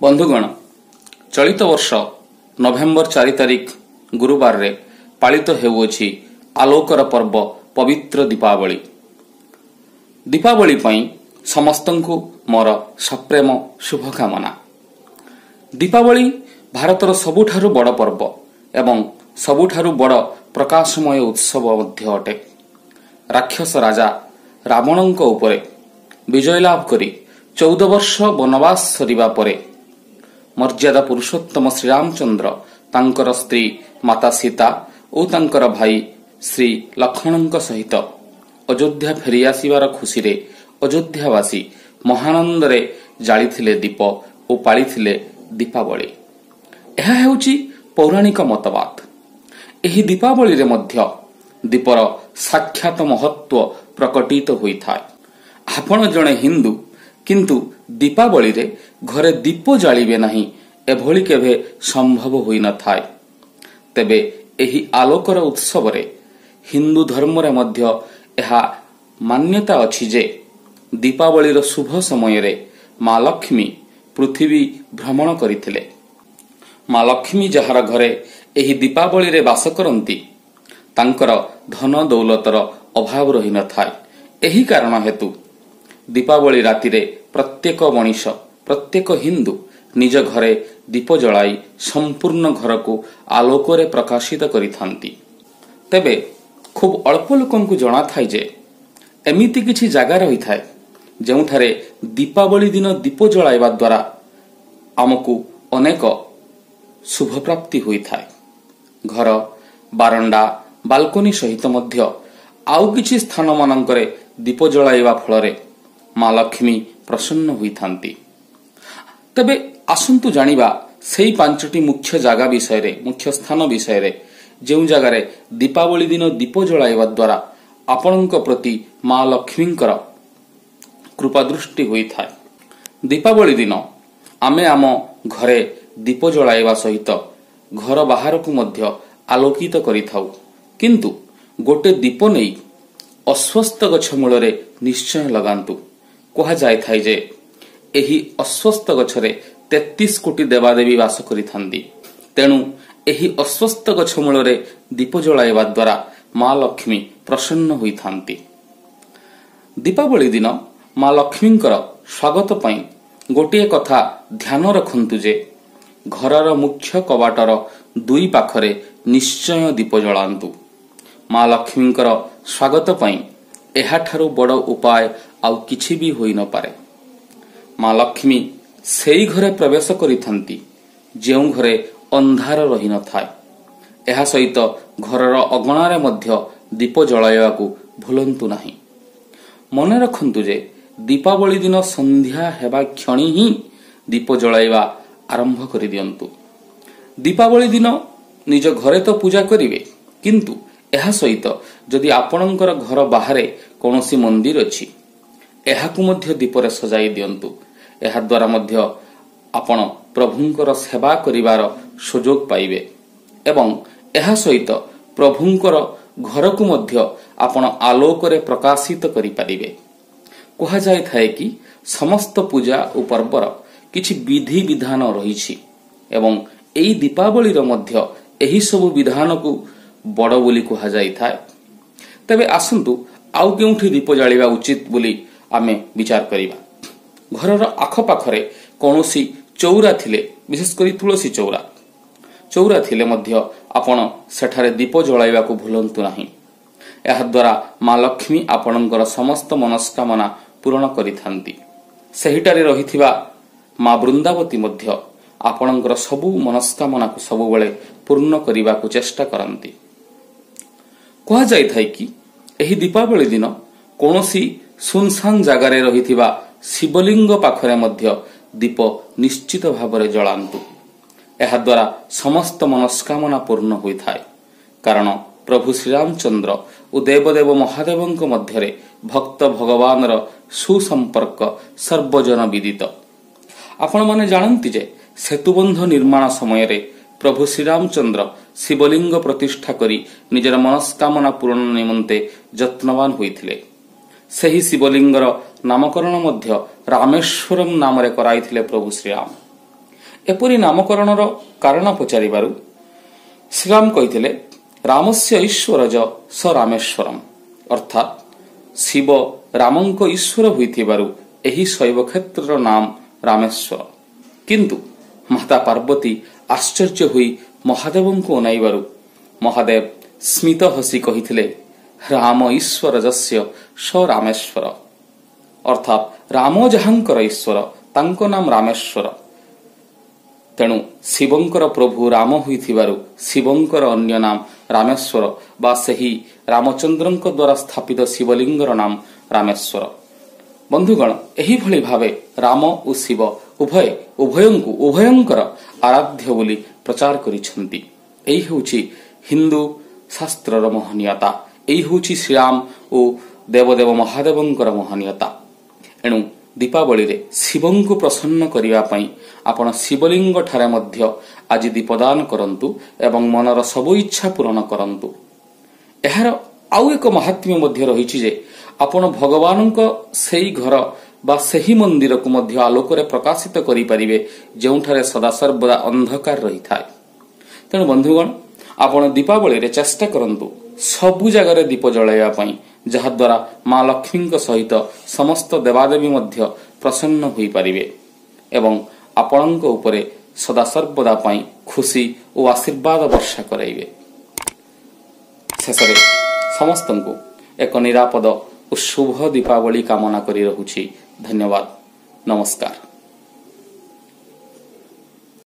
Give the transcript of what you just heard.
ବନ୍ଧୁଗଣ, ଚଳିତ ବର୍ଷ ନଭେମ୍ବର 4 ତାରିଖ ଗୁରୁବାରରେ ପାଳିତ ହେଉଅଛି ଆଲୋକର ପର୍ବ ପବିତ୍ର ଦୀପାବଳି। ଦୀପାବଳି ପାଇଁ ସମସ୍ତଙ୍କୁ ମୋର ସପ୍ରେମ ଶୁଭକାମନା। ଦୀପାବଳି ଭାରତର ସବୁଠାରୁ ବଡ଼ ପର୍ବ ଏବଂ ସବୁଠାରୁ ବଡ଼ ପ୍ରକାଶମୟ ଉତ୍ସବ ମଧ୍ୟ ଅଟେ। ରାକ୍ଷସ ରାଜା ରାବଣଙ୍କ ଉପରେ ବିଜୟ ଲାଭ କରି 14 ବର୍ଷ ବନବାସ ସରିବା ପରେ ମର୍ଯ୍ୟାଦା ପୁରୁଷୋତ୍ତମ ଶ୍ରୀରାମଚନ୍ଦ୍ର ତାଙ୍କର ସ୍ତ୍ରୀ ମାତା ସୀତା ଓ ତାଙ୍କର ଭାଇ ଶ୍ରୀ ଲକ୍ଷ୍ମଣଙ୍କ ସହିତ ଅଯୋଧ୍ୟା ଫେରିଆସିବାର ଖୁସିରେ ଅଯୋଧ୍ୟାବାସୀ ମହାନନ୍ଦରେ ଜାଳିଥିଲେ ଦୀପ ଓ ପାଳିଥିଲେ ଦୀପାବଳି। ଏହା ହେଉଛି ପୌରାଣିକ ମତବାଦ। ଏହି ଦୀପାବଳିରେ ମଧ୍ୟ ଦୀପର ସାକ୍ଷାତ ମହତ୍ଵ ପ୍ରକଟିତ ହୋଇଥାଏ। ଆପଣ ଜଣେ ହିନ୍ଦୁ, କିନ୍ତୁ ଦୀପାବଳିରେ ଘରେ ଦୀପ ଜାଳିବେ ନାହିଁ, ଏଭଳି କେବେ ସମ୍ଭବ ହୋଇନଥାଏ। ତେବେ ଏହି ଆଲୋକର ଉତ୍ସବରେ ହିନ୍ଦୁ ଧର୍ମରେ ମଧ୍ୟ ଏହା ମାନ୍ୟତା ଅଛି ଯେ ଦୀପାବଳିର ଶୁଭ ସମୟରେ ମା ଲକ୍ଷ୍ମୀ ପୃଥିବୀ ଭ୍ରମଣ କରିଥିଲେ। ମା ଲକ୍ଷ୍ମୀ ଯାହାର ଘରେ ଏହି ଦୀପାବଳିରେ ବାସ କରନ୍ତି, ତାଙ୍କର ଧନ ଦୌଲତର ଅଭାବ ରହିନଥାଏ। ଏହି କାରଣ ହେତୁ ଦୀପାବଳି ରାତିରେ ପ୍ରତ୍ୟେକ ମଣିଷ, ପ୍ରତ୍ୟେକ ହିନ୍ଦୁ ନିଜ ଘରେ ଦୀପ ଜଳାଇ ସମ୍ପୂର୍ଣ୍ଣ ଘରକୁ ଆଲୋକରେ ପ୍ରକାଶିତ କରିଥାନ୍ତି। ତେବେ ଖୁବ୍ ଅଳ୍ପ ଲୋକଙ୍କୁ ଜଣାଥାଏ ଯେ ଏମିତି କିଛି ଜାଗା ରହିଥାଏ ଯେଉଁଠାରେ ଦୀପାବଳି ଦିନ ଦୀପ ଜଳାଇବା ଦ୍ୱାରା ଆମକୁ ଅନେକ ଶୁଭପ୍ରାପ୍ତି ହୋଇଥାଏ। ଘର, ବାରଣ୍ଡା, ବାଲକୋନି ସହିତ ମଧ୍ୟ ଆଉ କିଛି ସ୍ଥାନମାନଙ୍କରେ ଦୀପ ଜଳାଇବା ଫଳରେ ମା ଲକ୍ଷ୍ମୀ ପ୍ରସନ୍ନ ହୋଇଥାନ୍ତି। ତେବେ ଆସନ୍ତୁ ଜାଣିବା ସେଇ 5ଟି ମୁଖ୍ୟ ଜାଗା ବିଷୟରେ, ମୁଖ୍ୟ ସ୍ଥାନ ବିଷୟରେ, ଯେଉଁ ଜାଗାରେ ଦୀପାବଳି ଦିନ ଦୀପ ଜଳାଇବା ଦ୍ୱାରା ଆପଣଙ୍କ ପ୍ରତି ମା ଲକ୍ଷ୍ମୀଙ୍କର କୃପାଦୃଷ୍ଟି ହୋଇଥାଏ। ଦୀପାବଳି ଦିନ ଆମେ ଆମ ଘରେ ଦୀପ ଜଳାଇବା ସହିତ ଘର ବାହାରକୁ ମଧ୍ୟ ଆଲୋକିତ କରିଥାଉ, କିନ୍ତୁ ଗୋଟେ ଦୀପ ନେଇ ଅଶ୍ୱସ୍ଥ ଗଛ ମୂଳରେ ନିଶ୍ଚୟ ଲଗାନ୍ତୁ। କୁହାଯାଇଥାଏ ଯେ ଏହି ଅଶ୍ୱସ୍ଥ ଗଛରେ 33 କୋଟି ଦେବାଦେବୀ ବାସ କରିଥାନ୍ତି। ତେଣୁ ଏହି ଅଶ୍ୱସ୍ଥ ଗଛ ମୂଳରେ ଦୀପ ଜଳାଇବା ଦ୍ୱାରା ମା ଲକ୍ଷ୍ମୀ ପ୍ରସନ୍ନ ହୋଇଥାନ୍ତି। ଦୀପାବଳି ଦିନ ମା ଲକ୍ଷ୍ମୀଙ୍କର ସ୍ୱାଗତ ପାଇଁ ଗୋଟିଏ କଥା ଧ୍ୟାନ ରଖନ୍ତୁ ଯେ ଘରର ମୁଖ୍ୟ କବାଟର ଦୁଇ ପାଖରେ ନିଶ୍ଚୟ ଦୀପ ଜଳାନ୍ତୁ। ମା ଲକ୍ଷ୍ମୀଙ୍କର ସ୍ୱାଗତ ପାଇଁ ଏହାଠାରୁ ବଡ଼ ଉପାୟ ଆଉ କିଛି ବି ହୋଇନପାରେ। ମା ଲକ୍ଷ୍ମୀ ସେଇ ଘରେ ପ୍ରବେଶ କରିଥାନ୍ତି ଯେଉଁ ଘରେ ଅନ୍ଧାର ରହିନଥାଏ। ଏହା ସହିତ ଘରର ଅଗଣାରେ ମଧ୍ୟ ଦୀପ ଜଳାଇବାକୁ ଭୁଲନ୍ତୁ ନାହିଁ। ମନେ ରଖନ୍ତୁ ଯେ ଦୀପାବଳି ଦିନ ସନ୍ଧ୍ୟା ହେବା କ୍ଷଣି ହିଁ ଦୀପ ଜଳାଇବା ଆରମ୍ଭ କରିଦିଅନ୍ତୁ। ଦୀପାବଳି ଦିନ ନିଜ ଘରେ ତ ପୂଜା କରିବେ, କିନ୍ତୁ ଏହା ସହିତ ଯଦି ଆପଣଙ୍କର ଘର ବାହାରେ କୌଣସି ମନ୍ଦିର ଅଛି, ଏହାକୁ ମଧ୍ୟ ଦୀପରେ ସଜାଇ ଦିଅନ୍ତୁ। ଏହାଦ୍ୱାରା ମଧ୍ୟ ଆପଣ ପ୍ରଭୁଙ୍କର ସେବା କରିବାର ସୁଯୋଗ ପାଇବେ ଏବଂ ଏହା ସହିତ ପ୍ରଭୁଙ୍କର ଘରକୁ ମଧ୍ୟ ଆପଣ ଆଲୋକରେ ପ୍ରକାଶିତ କରିପାରିବେ। କୁହାଯାଇଥାଏ କି ସମସ୍ତ ପୂଜା ଓ ପର୍ବର କିଛି ବିଧି ବିଧାନ ରହିଛି ଏବଂ ଏହି ଦୀପାବଳିର ମଧ୍ୟ ଏହିସବୁ ବିଧାନକୁ ବଡ଼ ବୋଲି କୁହାଯାଇଥାଏ। ତେବେ ଆସନ୍ତୁ ଆଉ କେଉଁଠି ଦୀପ ଜାଳିବା ଉଚିତ ବୋଲି ଆମେ ବିଚାର କରିବା। ଘରର ଆଖପାଖରେ କୌଣସି ଚଉରା ଥିଲେ, ବିଶେଷ କରି ତୁଳସୀ ଚଉରା ଥିଲେ ମଧ୍ୟ ଆପଣ ସେଠାରେ ଦୀପ ଜଳାଇବାକୁ ଭୁଲନ୍ତୁ ନାହିଁ। ଏହାଦ୍ୱାରା ମା ଲକ୍ଷ୍ମୀ ଆପଣଙ୍କର ସମସ୍ତ ମନସ୍କାମନା ପୂରଣ କରିଥାନ୍ତି। ସେହିଠାରେ ରହିଥିବା ମା ବୃନ୍ଦାବତୀ ମଧ୍ୟ ଆପଣଙ୍କର ସବୁ ମନସ୍କାମନାକୁ ସବୁବେଳେ ପୂର୍ଣ୍ଣ କରିବାକୁ ଚେଷ୍ଟା କରନ୍ତି। କୁହାଯାଇଥାଏ କି ଏହି ଦୀପାବଳି ଦିନ କୌଣସି ସୁନସାନ ଜାଗାରେ ରହିଥିବା ଶିବଲିଙ୍ଗ ପାଖରେ ମଧ୍ୟ ଦୀପ ନିଶ୍ଚିତ ଭାବରେ ଜଳାନ୍ତୁ। ଏହାଦ୍ୱାରା ସମସ୍ତ ମନସ୍କାମନା ପୂର୍ଣ୍ଣ ହୋଇଥାଏ। କାରଣ ପ୍ରଭୁ ଶ୍ରୀରାମଚନ୍ଦ୍ର ଓ ଦେବଦେବ ମହାଦେବଙ୍କ ମଧ୍ୟରେ ଭକ୍ତ ଭଗବାନର ସୁସମ୍ପର୍କ ସର୍ବଜନ ବିଦିତ। ଆପଣମାନେ ଜାଣନ୍ତି ଯେ ସେତୁବନ୍ଧ ନିର୍ମାଣ ସମୟରେ ପ୍ରଭୁ ଶ୍ରୀରାମଚନ୍ଦ୍ର ଶିବଲିଙ୍ଗ ପ୍ରତିଷ୍ଠା କରି ନିଜର ମନସ୍କାମନା ପୂରଣ ନିମନ୍ତେ ଯତ୍ନବାନ ହୋଇଥିଲେ। ସେହି ଶିବଲିଙ୍ଗର ନାମକରଣ ମଧ୍ୟ ରାମେଶ୍ୱରମ ନାମରେ କରାଇଥିଲେ ପ୍ରଭୁ ଶ୍ରୀରାମ। ଏପରି ନାମକରଣର କାରଣ ପଚାରିବାରୁ ଶ୍ରୀରାମ କହିଥିଲେ, ରାମସ୍ୟ ଈଶ୍ୱରଜ ସ ରାମେଶ୍ୱରମ, ଅର୍ଥାତ୍ ଶିବ ରାମଙ୍କ ଈଶ୍ୱର ହୋଇଥିବାରୁ ଏହି ଶୈବ କ୍ଷେତ୍ରର ନାମ ରାମେଶ୍ୱର। କିନ୍ତୁ ମାତା ପାର୍ବତୀ ଆଶ୍ଚର୍ଯ୍ୟ ହୋଇ ମହାଦେବଙ୍କୁ ଅନାଇବାରୁ ମହାଦେବ ସ୍ମିତ ହସି କହିଥିଲେ, ରାମ ଈଶ୍ୱର ଯସ୍ୟ ସ ରାମେଶ୍ୱର, ଅର୍ଥାତ୍ ରାମ ଯାହାଙ୍କର ଈଶ୍ୱର ତାଙ୍କ ନାମ ରାମେଶ୍ୱର। ତେଣୁ ଶିବଙ୍କର ପ୍ରଭୁ ରାମ ହୋଇଥିବାରୁ ଶିବଙ୍କର ଅନ୍ୟ ନାମ ରାମେଶ୍ୱର ବା ସେହି ରାମଚନ୍ଦ୍ରଙ୍କ ଦ୍ୱାରା ସ୍ଥାପିତ ଶିବଲିଙ୍ଗର ନାମ ରାମେଶ୍ୱର। ବନ୍ଧୁଗଣ, ଏହିଭଳି ଭାବେ ରାମ ଓ ଶିବ ଉଭୟ ଉଭୟଙ୍କୁ ଉଭୟଙ୍କର ଆରାଧ୍ୟ ବୋଲି ପ୍ରଚାର କରିଛନ୍ତି। ଏହି ହେଉଛି ହିନ୍ଦୁ ଶାସ୍ତ୍ରର ମହନୀୟତା, ଏଇ ହେଉଛି ଶ୍ରୀରାମ ଓ ଦେବଦେବ ମହାଦେବଙ୍କର ମହନୀୟତା। ଏଣୁ ଦୀପାବଳିରେ ଶିବଙ୍କୁ ପ୍ରସନ୍ନ କରିବା ପାଇଁ ଆପଣ ଶିବଲିଙ୍ଗ ଠାରେ ମଧ୍ୟ ଆଜି ଦୀପଦାନ କରନ୍ତୁ ଏବଂ ମନର ସବୁ ଇଚ୍ଛା ପୂରଣ କରନ୍ତୁ। ଏହାର ଆଉ ଏକ ମାହାତ୍ମ୍ୟ ମଧ୍ୟ ରହିଛି ଯେ ଆପଣ ଭଗବାନଙ୍କ ସେଇ ଘର ବା ସେହି ମନ୍ଦିରକୁ ମଧ୍ୟ ଆଲୋକରେ ପ୍ରକାଶିତ କରିପାରିବେ ଯେଉଁଠାରେ ସଦାସର୍ବଦା ଅନ୍ଧକାର ରହିଥାଏ। ତେଣୁ ବନ୍ଧୁଗଣ, ଆପଣ ଦୀପାବଳିରେ ଚେଷ୍ଟା କରନ୍ତୁ ସବୁ ଜାଗାରେ ଦୀପ ଜଳାଇବା ପାଇଁ, ଯାହାଦ୍ୱାରା ମା ଲକ୍ଷ୍ମୀଙ୍କ ସହିତ ସମସ୍ତ ଦେବାଦେବୀ ମଧ୍ୟ ପ୍ରସନ୍ନ ହୋଇପାରିବେ ଏବଂ ଆପଣଙ୍କ ଉପରେ ସଦାସର୍ବଦା ପାଇଁ ଖୁସି ଓ ଆଶୀର୍ବାଦ ବର୍ଷା କରାଇବେ। ଶେଷରେ ସମସ୍ତଙ୍କୁ ଏକ ନିରାପଦ ଓ ଶୁଭ ଦୀପାବଳି କାମନା କରି ରହୁଛି। ଧନ୍ୟବାଦ, ନମସ୍କାର।